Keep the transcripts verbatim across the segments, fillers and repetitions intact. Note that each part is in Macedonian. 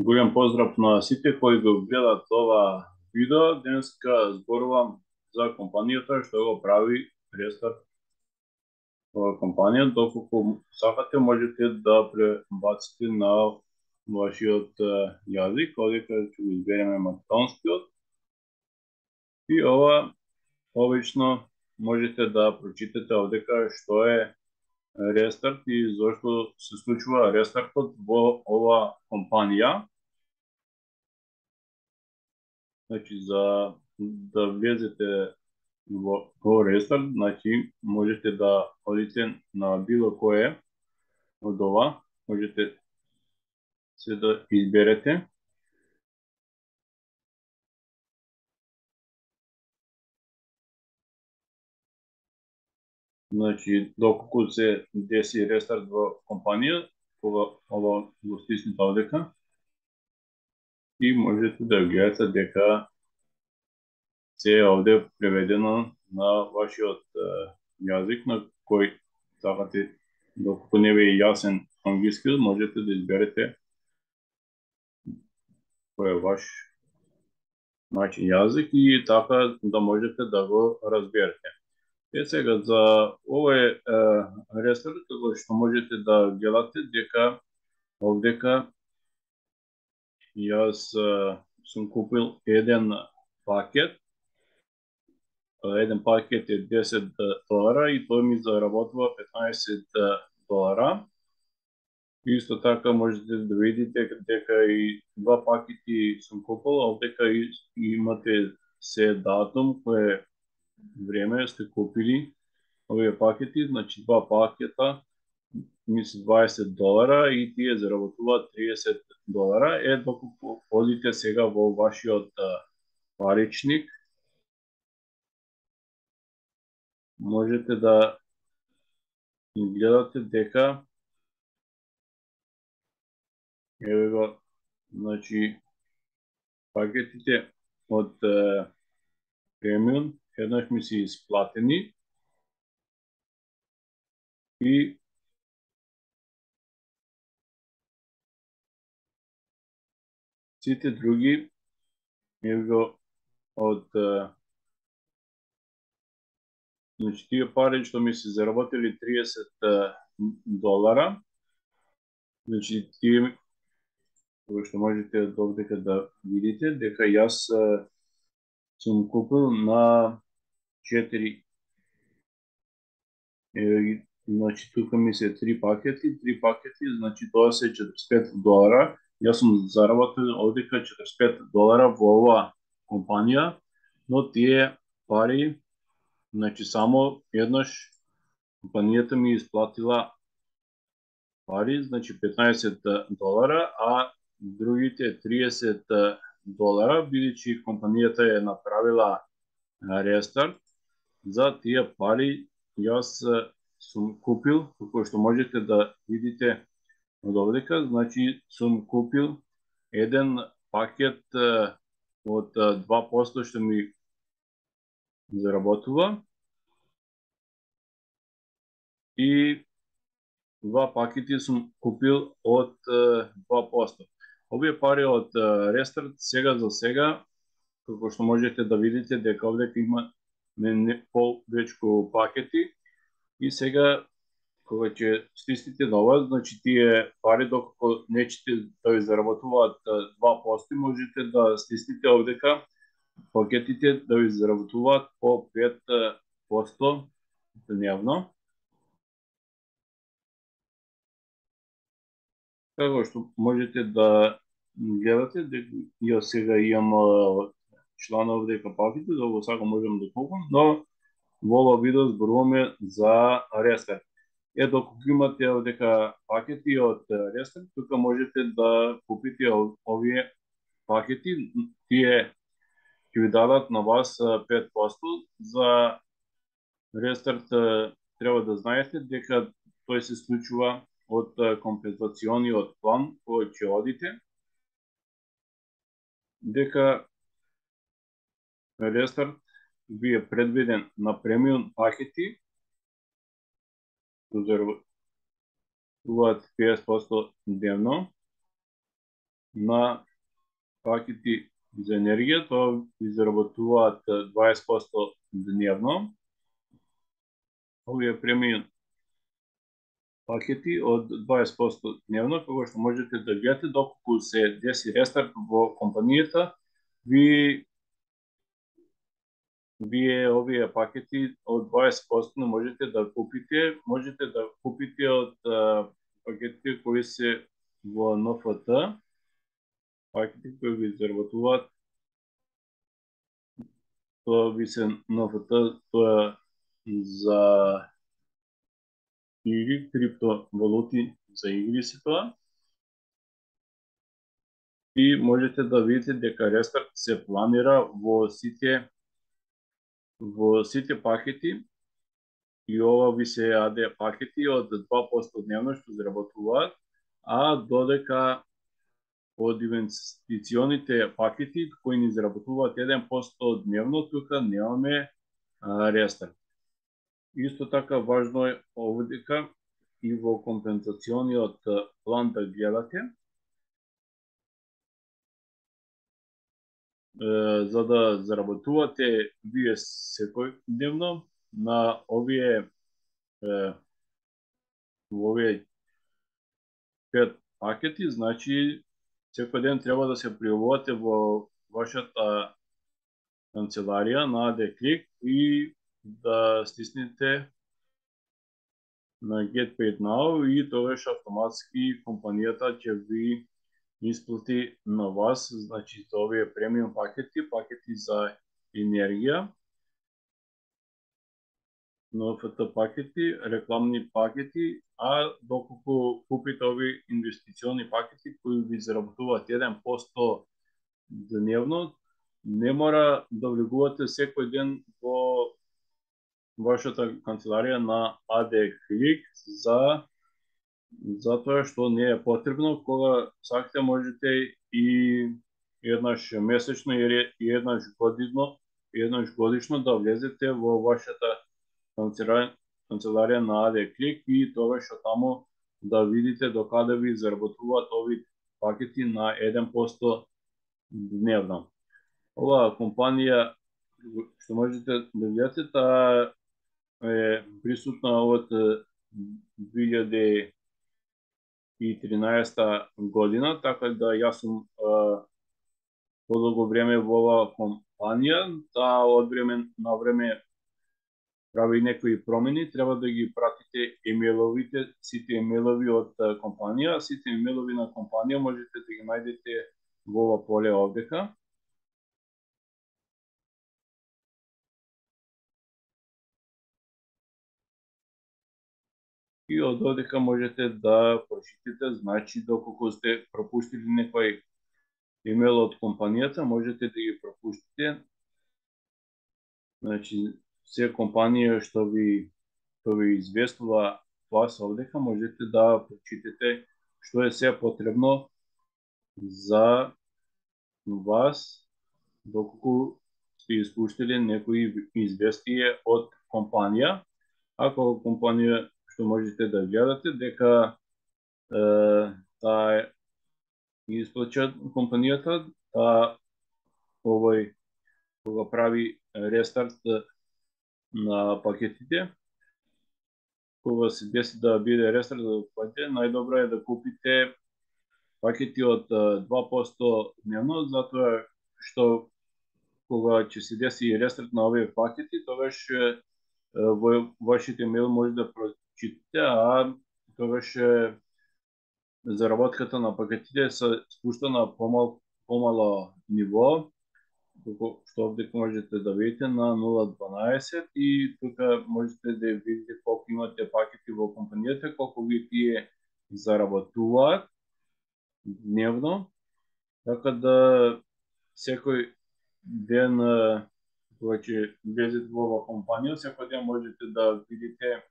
Голем поздрав на сите кои го гледат ова видео. Денеска зборувам за компанијата што го прави рестарт. Ова компанија, доколку сакате, можете да пребаците на вашиот јазик, одека ќе го избереме македонскиот. И ова обично можете да прочитате овдека што е рестарт и зошто се случува рестартот во ова компанија. Значи, за да влезете во, во рестарт, значи, можете да одите на било кое од ова, можете се да изберете. Значи, доколку се деси рестарт во компанија, ова, ова го стиснете овдека и можете да гледате дека се е овде преведено на вашиот јазик на кој сакате. Доколку не ви е јасен англиски, можете да изберете кој е ваш начин јазик и така да можете да го разберете. Е сега за овој рестарт, како што можете да гледате дека овдека јас сум купил еден пакет. Еден пакет е десет долара и тој ми заработува петнаесет долара. Исто така можете да видите дека и два пакети сум купил, овдека имате се датум, кое време сте купили овие пакети, значи два пакета мисли дваесет долара и тие заработуваат триесет долара. Е, доколку одите сега во вашиот паричник, можете да гледате дека еве го, значи, пакетите од премиум еднаш ми се исплатени и сите други еве го од значи тие пари што ми се заработили триесет долара, значи тие што можете довдека да видите дека јас сум купил на четири, е, значи тука ми се три пакети, три пакети, значи тоа се четиридесет и пет долара. Јас сум заработил овдека четиридесет и пет долара во оваа компанија, но тие пари, значи само еднаш компанијата ми исплатила пари, значи петнаесет долара, а другите триесет долара, бидејќи компанијата е направила рестарт, за тие пари јас сум купил, како што можете да видите од овдека, значи сум купил еден пакет од два проценти што ми заработува и два пакети сум купил од два проценти. Овие пари од рестарт сега за сега, како што можете да видите дека овдека има не повечку пакети и сега кога ќе стиснете на ова, значи тие пари доколку нечете да ви заработуваат два проценти, можете да стиснете овдека пакетите да ви заработуваат по пет проценти дневно. Како што можете да гледате, ја сега имам члана овдека пакети, за го сакам можам да купам, но во ова видео зборуваме за рестарт. Е, доколку имате овдека пакети од рестарт, тука можете да купите овие пакети, тие ќе ви дадат на вас пет проценти. За рестарт треба да знаете дека тој се случува од компензациониот план кој ќе одите, дека рестарт ви е предвиден на премиум пакети, заработуваат петдесет проценти дневно, на пакети за енергија, тоа ви заработуваат дваесет проценти дневно. Овие премиум пакети од дваесет проценти дневно, кога што можете да гледате доколку се деси рестарт во компанијата, ви вие овие пакети од дваесет проценти можете да купите, можете да купите од пакетите кои се во Н Ф Т, пакети кои ви заработуваат, тоа ви се Н Ф Т, тоа за игри, криптовалути за игри се тоа. И можете да видите дека рестарт се планира во сите во сите пакети, и ова ви се А Д пакети од два проценти дневно што заработуваат, а додека од инвестиционите пакети кои ни заработуваат еден проценти дневно, тука немаме рестарт. Исто така важно е овдека и во компензациониот план да гледате, за да заработувате вие секојдневно на овие во овие пет пакети, значи секој ден треба да се пријавувате во вашата канцеларија на А Д Клик и да стиснете на Get Paid Now, и тогаш автоматски компанијата ќе ви исплати на вас, значи за овие премиум пакети, пакети за енергија, Н Ф Т пакети, рекламни пакети, а доколку купите овие инвестициони пакети кои ви заработуваат еден проценти дневно, не мора да влегувате секој ден во вашата канцеларија на А Д Клик за затоа што не е потребно. Кога сакате можете и еднаш месечно или еднаш годишно, еднаш годишно да влезете во вашата канцеларија на А Д Клик и тогаш таму да видите до каде ви заработуваат овие пакети на еден проценти дневно. Оваа компанија што можете да видите, таа е присутна од две илјади и тринаесетта година, така да јас сум подолго време во оваа компанија. Таа од време на време прави некои промени, треба да ги пратите емејловите, сите емејлови од компанија, сите емејлови на компанија можете да ги најдете во ова поле овдека. И од овдека можете да прочитате, значи доколку сте пропуштили некој емејл од компанијата, можете да ги пропуштите. Значи, се компанија што ви што ви известува вас овдека, можете да прочитате што е се потребно за вас доколку сте испуштили некои известие од компанија. Ако компанија што можете да гледате дека е, таа исплача компанијата, таа овој кога прави рестарт на пакетите, кога се деси да биде рестарт на пакетите, најдобро е да купите пакети од два проценти дневно, затоа што кога ќе се деси рестарт на овие пакети, тогаш во вашите имејл може да прочитате, а тогаш заработката на пакетите се спушта на помал, помало ниво, што овде можете да видите на нула дванаесет, и тука можете да видите колку имате пакети во компанијата, колку ви тие заработуваат дневно, така да секој ден кога ќе влезете во оваа компанија, секој ден можете да видите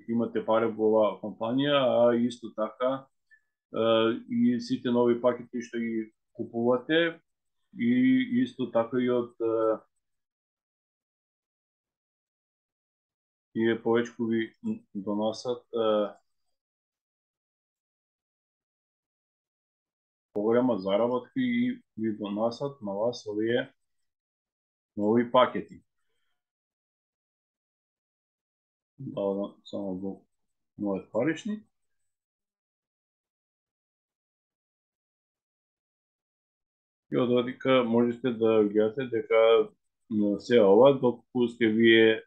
имате пари во оваа компанија, а исто така и сите нови пакети што ги купувате, и исто така и од и повеќе ви доносат поголема заработка и ви донасат на вас овие нови пакети. Да, само во мојот паричник. И од одика можете да гледате дека се ова, доколку сте вие е,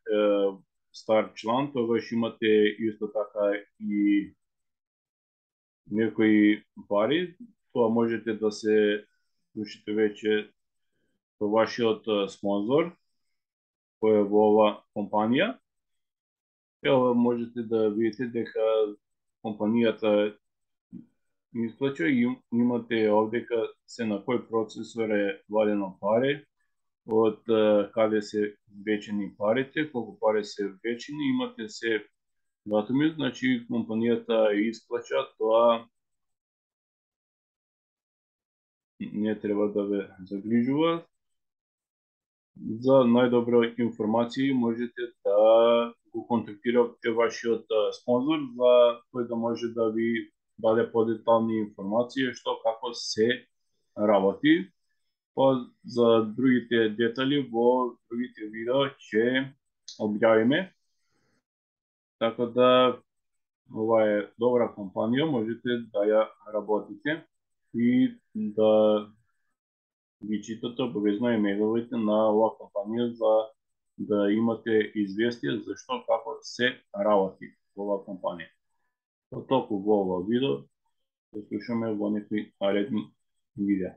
стар члан, тогаш имате исто така и некои пари, тоа можете да се включите веќе со вашиот спонзор, кој е во ова компанија. Ева можете да видите дека компанијата исклучува и имате овдека се на кој процесор е вадено пари, од каде се вечени парите, колку пари се вечени, имате се датуми, значи компанијата исклуча, тоа не треба да ве загрижува. За најдобро информации можете да го контактирате вашиот спонзор за тој да може да ви даде подетални информации што како се работи. Па за другите детали во другите видео ќе објавиме. Така да ова е добра компанија, можете да ја работите и да ги читате обавезно имејловите на оваа компанија за да имате известие за што како се работи во оваа компанија. Тоа толку во ова видео, се слушаме во некои наредни видеа.